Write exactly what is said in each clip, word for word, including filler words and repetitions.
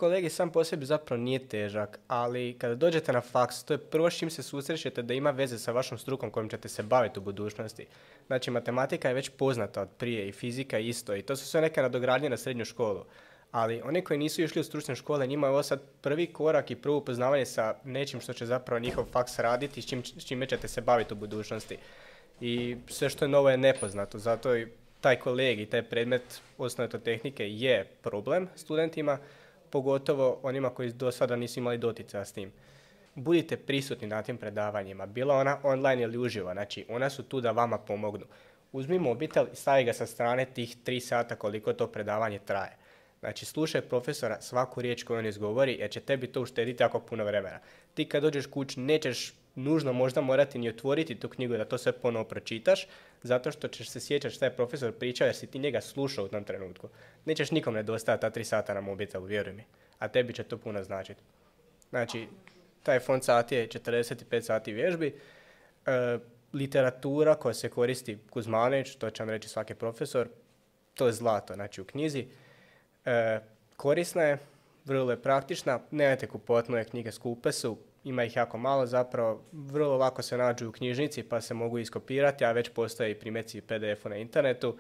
kolegij sam po sebi zapravo nije težak, ali kada dođete na faks, to je prvo s čim se susrećete da ima veze sa vašom strukom kojom ćete se baviti u budućnosti. Znači, matematika je već poznata od prije i fizika isto i to su sve neke nadogradnje na srednju školu. Ali oni koji nisu išli u stručne škole, njima je ovo sad prvi korak i prvo upoznavanje sa nečim što će zapravo njihov faks raditi i s, čim, s čime ćete se baviti u budućnosti. I sve što je novo je nepoznato, zato i taj kolegij, taj predmet osnovne tehnike je problem studentima, pogotovo onima koji do sada nisu imali doticaja s tim. Budite prisutni na tim predavanjima, bila ona online ili uživo, znači ona su tu da vama pomognu. Uzmi mobitel i stavi ga sa strane tih tri sata koliko to predavanje traje. Znači, slušaj profesora svaku riječ koju on izgovori, jer će tebi to uštediti jako puno vremena. Ti kad dođeš kući nećeš nužno možda morati ni otvoriti tu knjigu da to sve ponovo pročitaš, zato što ćeš se sjećati šta je profesor pričao jer si ti njega slušao u tom trenutku. Nećeš nikom nedostajati ta tri sata na mobitelu, vjeruj mi. A tebi će to puno značiti. Znači, taj fond sati je četrdeset pet sati vježbi. E, literatura koja se koristi Kuzmanović, to će vam reći svaki profesor, to je zlato, znači u knjizi. E, korisna je, vrlo je praktična, nemojte kupovati nove knjige, skupe su, ima ih jako malo zapravo, vrlo lako se nađu u knjižnici pa se mogu iskopirati, a već postoje i primjeci P D F-u na internetu.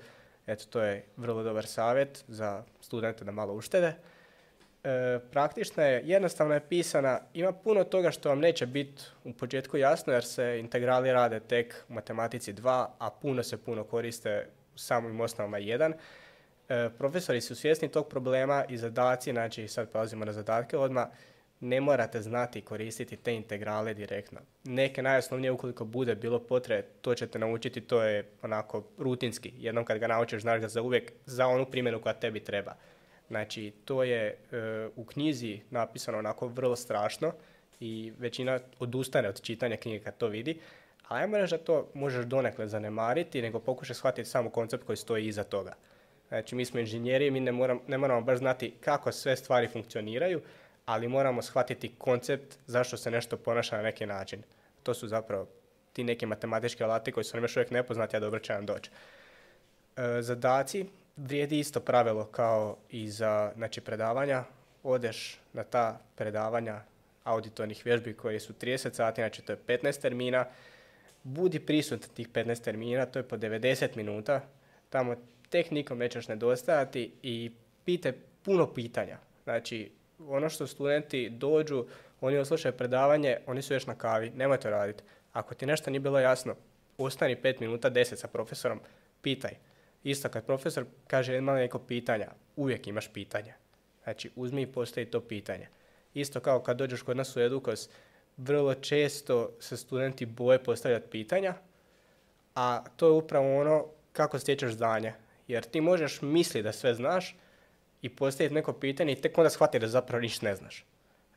Eto, to je vrlo dobar savjet za studente da malo uštede. E, praktična je, jednostavno je pisana, ima puno toga što vam neće biti u početku jasno jer se integrali rade tek u matematici dva, a puno se puno koriste u samim osnovama jedan. E, profesori su svjesni tog problema i zadaci, znači sad prelazimo na zadatke odmah, ne morate znati koristiti te integrale direktno. Neke najosnovnije ukoliko bude bilo potrebe, to ćete naučiti, to je onako rutinski. Jednom kad ga naučiš, znaš ga za uvijek, za onu primjenu koja tebi treba. Znači, to je e, u knjizi napisano onako vrlo strašno i većina odustane od čitanja knjige kad to vidi, ali ajmo reći da to možeš donekle zanemariti, nego pokušaj shvatiti samo koncept koji stoji iza toga. Znači, mi smo inženjeri, mi ne, moram, ne moramo baš znati kako sve stvari funkcioniraju, ali moramo shvatiti koncept zašto se nešto ponaša na neki način. To su zapravo ti neki matematički alati koji su nam još uvijek nepoznati, a dobro će nam doći. E, zadaci, vrijedi isto pravilo kao i za znači, predavanja. Odeš na ta predavanja auditornih vježbi koje su trideset sati, znači to je petnaest termina. Budi prisutan tih petnaest termina, to je po devedeset minuta. Tamo tek nikom nećeš nedostajati i pite puno pitanja. Znači, ono što studenti dođu, oni oslušaju predavanje, oni su još na kavi, nemoj to raditi. Ako ti nešto nije bilo jasno, ostani pet minuta, deset sa profesorom, pitaj. Isto kad profesor kaže ima neko pitanja, uvijek imaš pitanja. Znači, uzmi i postavi to pitanje. Isto kao kad dođeš kod nas u Edukos, vrlo često se studenti boje postavljati pitanja, a to je upravo ono kako stječeš znanje. Jer ti možeš misliti da sve znaš i postaviti neko pitanje i tek onda shvatiti da zapravo ništa ne znaš.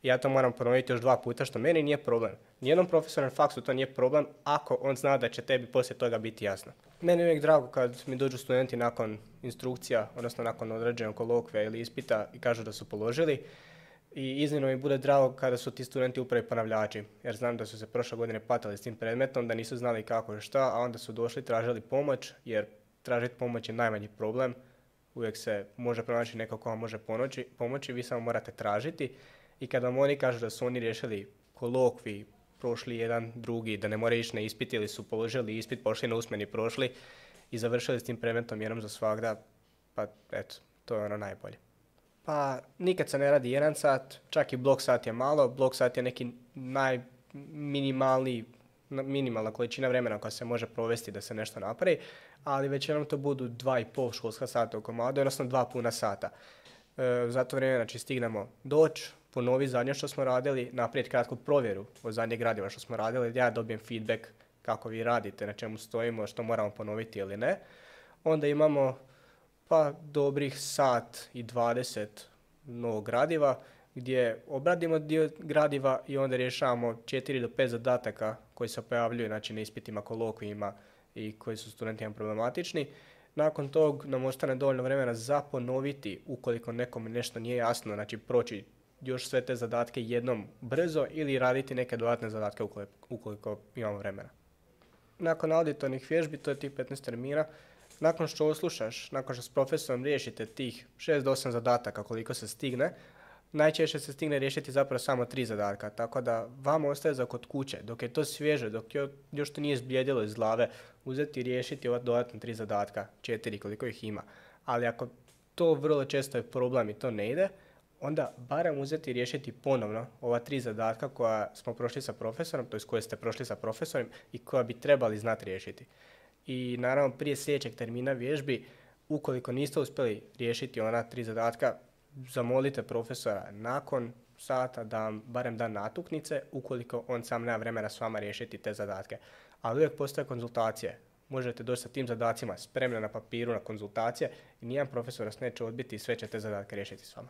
Ja to moram ponoviti još dva puta, što meni nije problem. Nijednom profesoru na faksu to nije problem ako on zna da će tebi poslije toga biti jasno. Meni je uvijek drago kad mi dođu studenti nakon instrukcija, odnosno nakon određenog kolokvija ili ispita i kažu da su položili. I iznimno mi bude drago kada su ti studenti upravo ponavljači, jer znam da su se prošle godine patali s tim predmetom, da nisu znali kako i šta, a onda su došli, tražili pomoć, jer tražiti pomoć je najmanji problem. Uvijek se može pronaći neko ko vam može pomoći, pomoći, vi samo morate tražiti. I kada vam oni kažu da su oni riješili kolokvij, prošli jedan, drugi, da ne moraju ići na ispit ili su položili ispit, pošli na usmeni, prošli i završili s tim predmetom jednom za svagda, pa eto, to je ono najbolje. Pa nikad se ne radi jedan sat, čak i blok sat je malo, blok sat je neki najminimalniji, minimalna količina vremena koja se može provesti da se nešto napravi, ali većinom to budu dva i pol školska sata u komadu, odnosno dva puna sata. E, za to vrijeme znači, stignemo doći, ponovi zadnje što smo radili, naprijed kratku provjeru od zadnjeg gradiva što smo radili, ja dobijem feedback kako vi radite, na čemu stojimo, što moramo ponoviti ili ne. Onda imamo pa dobrih sat i dvadeset novog gradiva, gdje obradimo dio gradiva i onda rješavamo četiri do pet zadataka koji se pojavljuju znači, na ispitima, kolokvijima i koji su studentima problematični. Nakon tog nam ostane dovoljno vremena za ponoviti ukoliko nekom nešto nije jasno, znači proći još sve te zadatke jednom brzo ili raditi neke dodatne zadatke ukoliko, ukoliko imamo vremena. Nakon auditornih vježbi, to je tih petnaest termina, nakon što oslušaš, nakon što s profesorom riješite tih šest do osam zadataka koliko se stigne, najčešće se stigne riješiti zapravo samo tri zadatka, tako da vama ostaje za kod kuće, dok je to svježe, dok još to nije zblijedilo iz glave, uzeti i riješiti ova dodatna tri zadatka, četiri koliko ih ima. Ali ako to vrlo često je problem i to ne ide, onda barem uzeti i riješiti ponovno ova tri zadatka koja smo prošli sa profesorom, to jest koje ste prošli sa profesorom i koja bi trebali znati riješiti. I naravno prije sljedećeg termina vježbi, ukoliko niste uspjeli riješiti ona tri zadatka, zamolite profesora nakon sata da vam barem da natuknice, ukoliko on sam nema vremena s vama riješiti te zadatke. Ali uvijek postoje konzultacije. Možete doći sa tim zadacima spremno na papiru na konzultacije i nijedan profesor vas neće odbiti i sve će te zadatke riješiti s vama.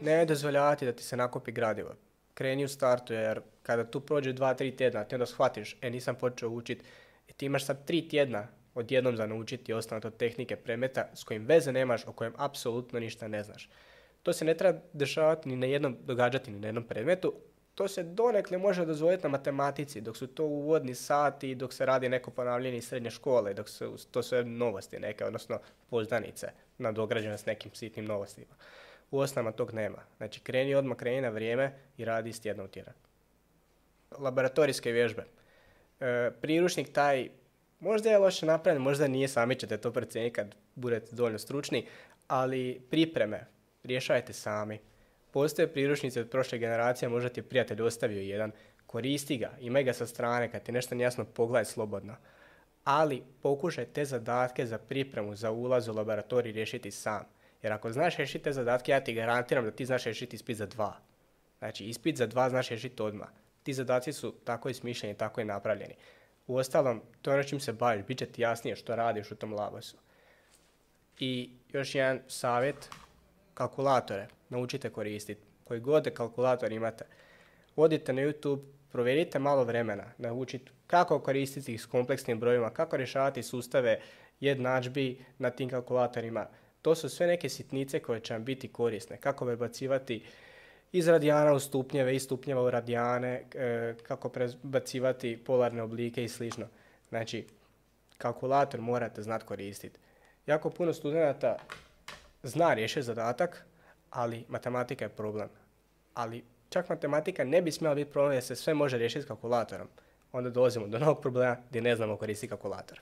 Ne dozvoljavati da ti se nakopi gradivo. Kreni u startu jer kada tu prođe dva, tri tjedna, ti onda shvatiš, e nisam počeo učiti, i ti imaš sad tri tjedna odjednom za naučiti osnovne tehnike predmeta s kojim veze nemaš, o kojem apsolutno ništa ne znaš. To se ne treba dešavati ni na jednom, događati ni na jednom predmetu. To se donekle može dozvoliti na matematici, dok su to uvodni sati, dok se radi neko ponavljanje iz srednje škole, dok su to sve novosti neke, odnosno poznanice nadograđene s nekim sitnim novostima. U osnovama tog nema. Znači kreni odmah, kreni na vrijeme i radi iz tjedna u tjedan. Laboratorijske vježbe. E, priručnik taj možda je loše napravljen, možda nije, sami ćete to procijeniti kad budete dovoljno stručni, ali pripreme rješajte sami. Postoje priručnici od prošle generacije, možda ti je prijatelj ostavio jedan, koristi ga, imaj ga sa strane, kad ti nešto nejasno pogledaj slobodno. Ali pokušaj te zadatke za pripremu, za ulaz u laboratorij riješiti sam. Jer ako znaš riješiti te zadatke, ja ti garantiram da ti znaš riješiti ispit za dva. Znači ispit za dva znaš riješiti odmah. Ti zadaci su tako i smišljeni, tako i napravljeni. Uostalom, to je ono čim se baviš, bit će ti jasnije što radiš u tom labosu. I još jedan savjet, kalkulatore naučite koristiti. Koji god kalkulator imate, odite na YouTube, provjerite malo vremena, naučite kako koristiti ih s kompleksnim brojima, kako rješavati sustave jednadžbi na tim kalkulatorima. To su sve neke sitnice koje će vam biti korisne. Kako prebacivati iz radijana u stupnjeve, iz stupnjeva u radijane, kako prebacivati polarne oblike i slično. Znači, kalkulator morate znati koristiti. Jako puno studenata zna riješiti zadatak, ali matematika je problem. Ali čak matematika ne bi smjela biti problem jer se sve može riješiti s kalkulatorom. Onda dolazimo do novog problema gdje ne znamo koristiti kalkulator.